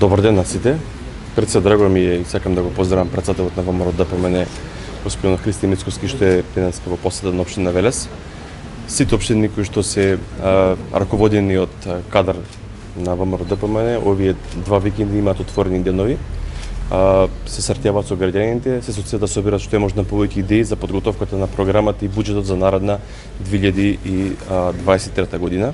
Добар ден на сите. Пред се драго ми е и сакам да го поздравам председателот на ВМРО ДПМН, господин Христи Мицковски, што е денеска во посета на општина Велес. Сите општини кои што се раководени од кадар на ВМРО ДПМН, овие два викенди имаат отворени денови. Се сартјаваат со граѓаните, се соција да соберат што е можна повеќе идеи за подготовката на програмата и буџетот за наредна 2023 година.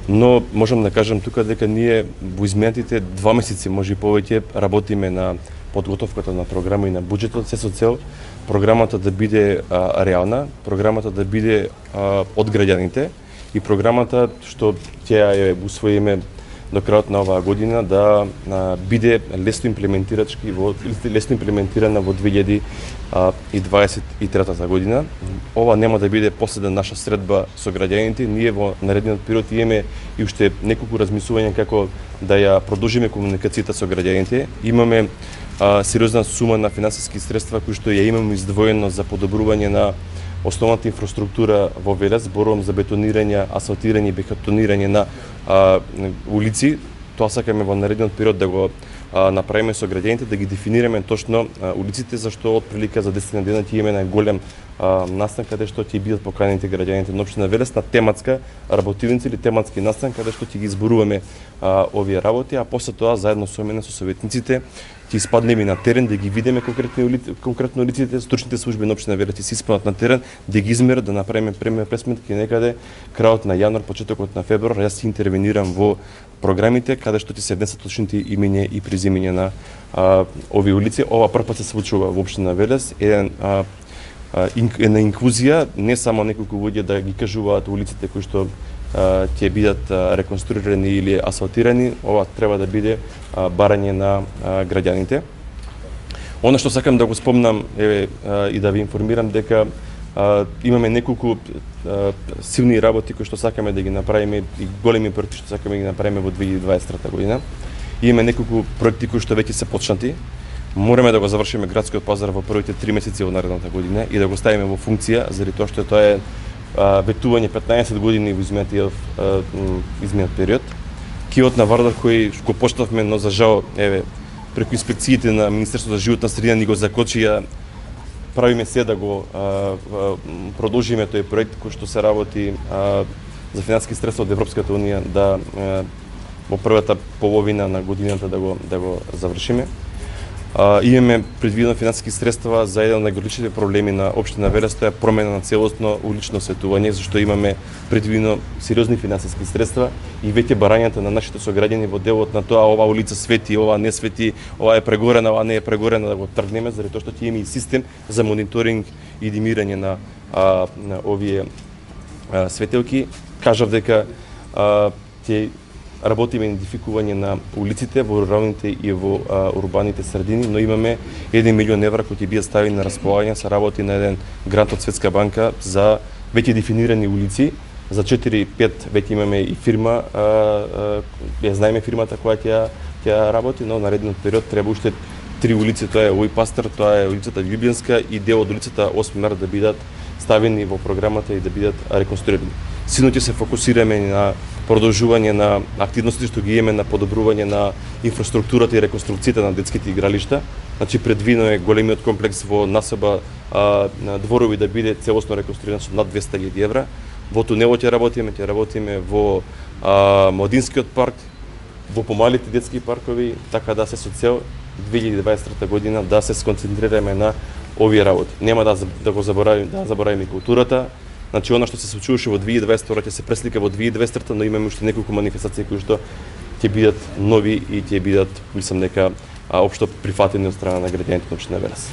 Но можам да кажам тука дека ние во изминатите 2 месеци, може и повеќе, работиме на подготовката на програма и на буџетот, се со цел програмата да биде реална, програмата да биде од граѓаните и програмата што ќе ја усвоиме до крајот на оваа година да биде лесно имплементирана во 2023 година. Ова нема да биде последна наша средба со граѓаните. Ние во наредниот период имаме и уште неколку размислувања како да ја продолжиме комуникацијата со граѓаните. Имаме сериозна сума на финансиски средства кои што ја имаме издвоено за подобрување на основната инфраструктура во Велес, зборувам за бетонирање, асфалтирање и бетонирање на улици. Тоа сакаме во наредниот период да го направиме со граѓаните, да ги дефинираме точно улиците, зашто од прилика за 10 дена ќе имаме најголем настан каде што ќе бидат поканените граѓаните на општина Велес на тематска работилница или тематски настан каде што ќе ги изборуваме овие работи, а после тоа заедно со мене со советниците ќе испаднеме на терен да ги видиме конкретно улиците, стручните служби на општина Велес ќе се испаднат на терен да ги измерат, да направиме пресметки некаде крајот на јануар, почетокот на февруар. Јас ќе интервенирам во програмите каде што ќе се внесат точните имиња и презимиња на овие улици. Ова прв пат се случува во општина Велес, една инклузија, не само неколку луѓе да ги кажуваат улиците кои што ќе бидат реконструирани или асфалтирани. Ова треба да биде барање на граѓаните. Она што сакам да го спомнам и да ви информирам дека имаме неколку силни работи кои што сакаме да ги направиме и големи проекти што сакаме да ги направиме во 2023 година. Имаме неколку проекти кои што веќе се почнати. Мораме да го завршиме градскиот пазар во првите 3 месеци во наредната година и да го ставиме во функција, заради тоа што тоа е ветување 15 години во изминатиот период. Киот на Вардар кој го почнавме, но за жал, преку инспекциите на Министерството за животна средина ни го закочија. Правиме се да го продолжиме тој проект кој што се работи за финансиски средства од Европската унија да во првата половина на годината да го завршиме. Имаме предвидено финансиски средства за еден од најголемите проблеми на општина Велес, тоа е промена на целосно улично осветување, зашто имаме предвидено сериозни финансиски средства и веќе барањата на нашите сограѓани во делот на тоа ова улица свети, ова не свети, ова е прегорена, ова не е прегорена, да го тргнеме, заради тоа што ќе имаме и систем за мониторинг и димирање на овие светелки. Кажав дека ќе работиме идентификување на улиците во руралните и во урбаните средини, но имаме 1 милион евра кои ќе бидат ставени на располагање, се работи на еден грант од Светска банка за веќе дефинирани улици. За 4-5 веќе имаме и фирма, ја знаеме фирмата која ќе работи, но наредниот период треба уште 3 улици, тоа е Ој Пастер, тоа е улицата Љубљанска и дел од улицата 8 март да бидат ставени во програмата и да бидат реконструирани. Силно ќе се фокусираме на продолжување на активностите што ги имаме на подобрување на инфраструктурата и реконструкцијата на детските игралишта. Значи предвидено е големиот комплекс во насоба на Дворови да биде целосно реконструиран со над 200.000 евра. Во тунелот ќе работиме во Младинскиот парк, во помалите детски паркови, така да се со цел 2023 година да се сконцентрираме на овие работи. Нема да заборавиме културата. Значи, она што се случуваше во 2022 ќе се преслика во 2023, но имаме уште неколку манифестации кои што ќе бидат нови и ќе бидат, мислам дека, општо прифатени од страна на граѓаните на општина Велес.